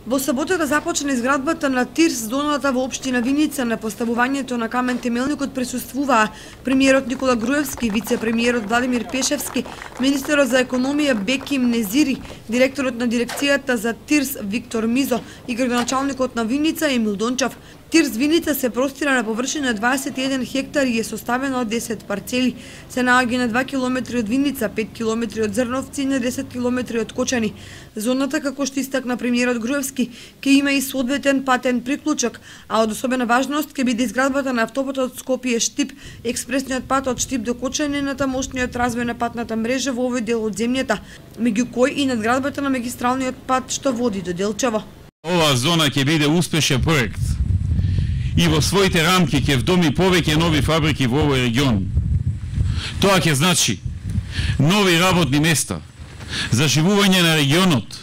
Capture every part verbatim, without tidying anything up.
Во саботата започна изградбата на ТИРС зоната во општина Виница. На поставувањето на камен темелникот присуствуваа премиерот Никола Груевски, вице-премиерот Владимир Пешевски, министерот за економија Беким Незири, директорот на дирекцијата за ТИРС Виктор Мизо и градоначалникот на Виница Емил Дончев. ТИРС Виница се простира на површина дваесет и еден хектари и е составена од десет парцели. Се наоѓа на два километри од Виница, пет километри од Зрновци и на десет километри од Кочани. Зоната, како што истакна премиерот Груевски, ќе има и соодветен патен приклучок, а од особена важност ќе биде изградбата на автопатот Скопје-Штип, експресниот пат од Штип до Кочани и натамошниот развој на патната мрежа во овој дел од земјата, меѓу кој и надградбата на магистралниот пат што води до Делчево. Оваа зона ќе биде успешен проект и во своите рамки ќе вдоми повеќе нови фабрики во овој регион. Тоа ќе значи нови работни места, заживување на регионот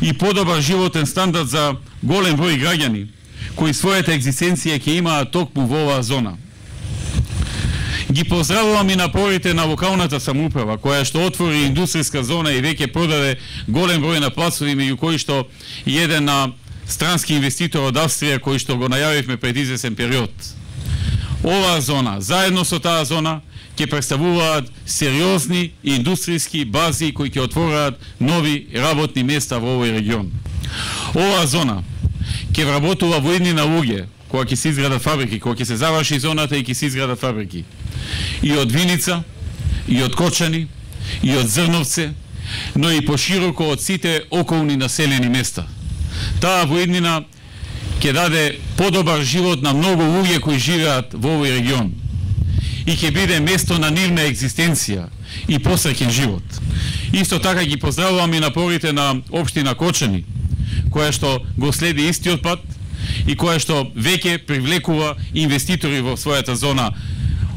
и подобар животен стандард за голем број граѓани кои својата екзистенција ќе имаат токму во оваа зона. Ги поздравувам и напорите на локалната самоуправа која што отвори индустријска зона и веќе продаде голем број на плацови, меѓу кои што и еден на странски инвеститор од Австрија кој што го најавивме пред извесен период. Оваа зона, заедно со таа зона, ќе представуваат сериозни индустријски бази кои ќе отвораат нови работни места во овој регион. Оваа зона ќе вработува во иднина луѓе кога ќе се изградат фабрики, кога ќе се заврши зоната и ќе се изградат фабрики. И од Виница, и од Кочани, и од Зрновце, но и пошироко од сите околни населени места. Таа воиднина ќе даде подобар живот на многу луѓе кои живеат во овој регион и ќе биде место на нивна екзистенција и посреќен живот. Исто така ги поздравувам и напорите на општина Кочани, која што го следи истиот пат и која што веќе привлекува инвеститори во својата зона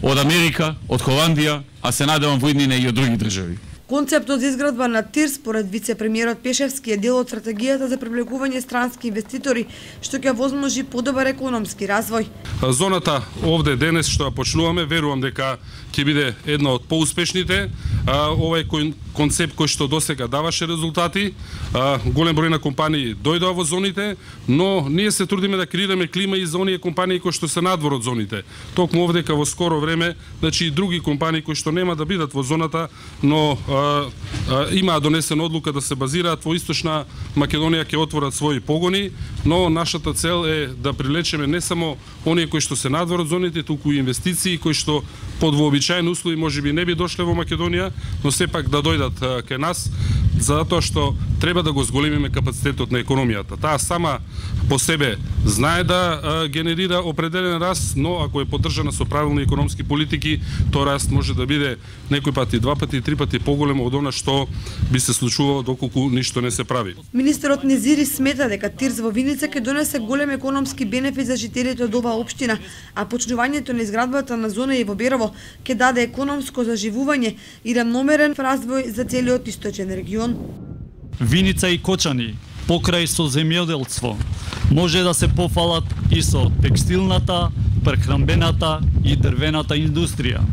од Америка, од Холандија, а се надевам воиднина и од други држави. Концептот за изградба на ТИРС, според вице-премиерот Пешевски, е дел од стратегијата за привлекување странски инвеститори, што ќе возможи подобар економски развој. Зоната овде денес што ја почнуваме, верувам дека ќе биде една од поуспешните. Овој концепт кој што досега даваше резултати, голем број на компании дојдоа во зоните, но ние се трудиме да креираме клима и за оние компании кои што се надвор од зоните. Токму овдека во скоро време, значи и други компании кои што нема да бидат во зоната, но имаа донесена одлука да се базираат во Источна Македонија, ќе отворат своји погони, но нашата цел е да привлечеме не само оние кои што се надвор од зоните, туку и инвестиции кои што под вообичаени услови можеби не би дошле во Македонија, но сепак да дојдат кај нас, затоа што треба да го зголемиме капацитетот на економијата. Таа сама по себе знае да генерира определен раст, но ако е поддржана со правилни економски политики, тој раст може да биде некој пати два пати, три пати поголем од она што би се случувало доколку ништо не се прави. Министерот Незири смета дека ТИРС во Виница ќе донесе голем економски бенефит за жителите од оваа општина, а почнувањето на изградбата на зона и во Берово ќе даде економско заживување и рамномерен развој за целиот источен регион. Виница и Кочани, покрај со земјоделство, може да се пофалат и со текстилната, прехранбената и дрвената индустрија.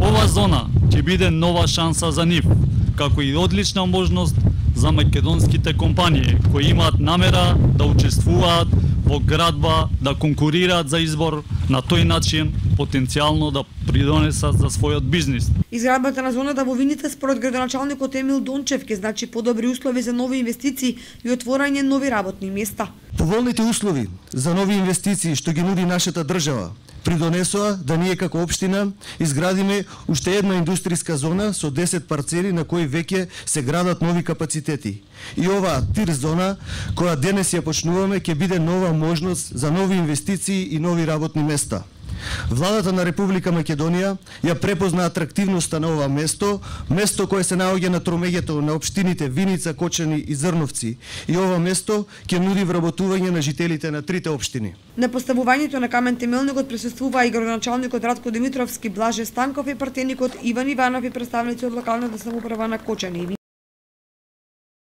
Ова зона ќе биде нова шанса за нив, како и одлична можност за македонските компании кои имаат намера да учествуваат во градба, да конкурираат за избор, на тој начин потенцијално да придонесат за својот бизнис. Изградбата на зоната во Виница според градоначалникот Емил Дончев ќе значи подобри услови за нови инвестиции и отворање нови работни места. Поволните услови за нови инвестиции што ги нуди нашата држава придонесоа да ние како општина изградиме уште една индустријска зона со десет парцели на кои веќе се градат нови капацитети. И оваа ТИРС зона, која денес ја почнуваме, ќе биде нова можност за нови инвестиции и нови работни места. Владата на Република Македонија ја препозна атрактивноста на ова место, место кое се наоѓа на тромеѓето на општините Виница, Кочани и Зрновци. И ова место ќе нуди вработување на жителите на трите општини. На поставувањето на камен темелникот присуствува и градоначалникот Радко Димитровски, Блаже Станков и партеникот Иван Иванов и представници од локалната самоуправа на Кочани.